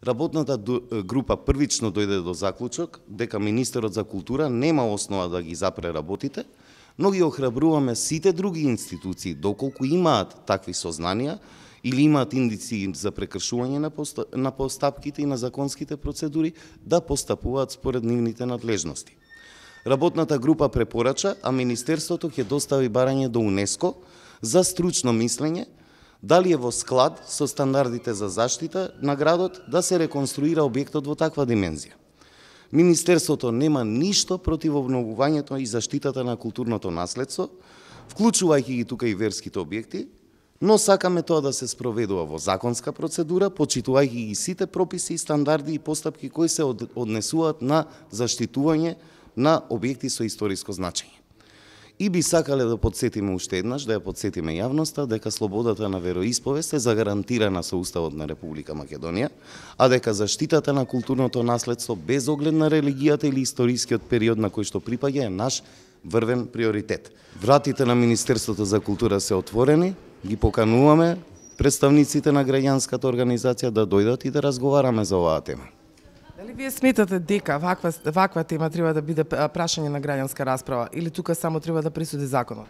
Работната група првично дојде до заклучок дека Министерот за култура нема основа да ги запре работите, но ги охрабруваме сите други институции, доколку имаат такви сознанија или имаат индици за прекршување на постапките и на законските процедури, да постапуваат според нивните надлежности. Работната група препорача, а Министерството ќе достави барање до УНЕСКО за стручно мислење, дали е во склад со стандардите за заштита на градот да се реконструира објектот во таква димензија. Министерството нема ништо против обновувањето и заштитата на културното наследство, вклучувајќи ги тука и верските објекти, но сакаме тоа да се спроведува во законска процедура, почитувајќи ги сите прописи и стандарди и постапки кои се однесуваат на заштитување на објекти со историско значење. И би сакале да подсетиме уште еднаш, да ја подсетиме јавноста дека слободата на вероисповест е загарантирана со Уставот на Република Македонија, а дека заштитата на културното наследство без оглед на религијата или историскиот период на кој што припаѓа е наш врвен приоритет. Вратите на Министерството за култура се отворени, ги покануваме представниците на граѓанската организација да дојдат и да разговараме за оваа тема. Дали вие сметате дека ваква тема треба да биде прашање на граѓанска расправа или тука само треба да присуди законот?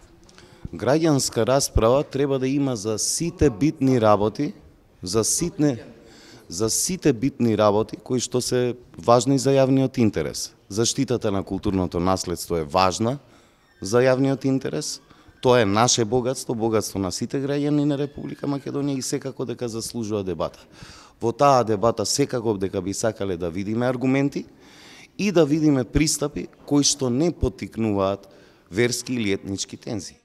Граѓанска расправа треба да има за сите битни работи, за сите битни работи кои што се важни за јавниот интерес. Заштитата на културното наследство е важна за јавниот интерес. Тоа е наше богатство, богатство на сите граѓани на Република Македонија и секако дека заслужува дебата. Во таа дебата секако дека би сакале да видиме аргументи и да видиме пристапи кои што не поттикнуваат верски или етнички тензии.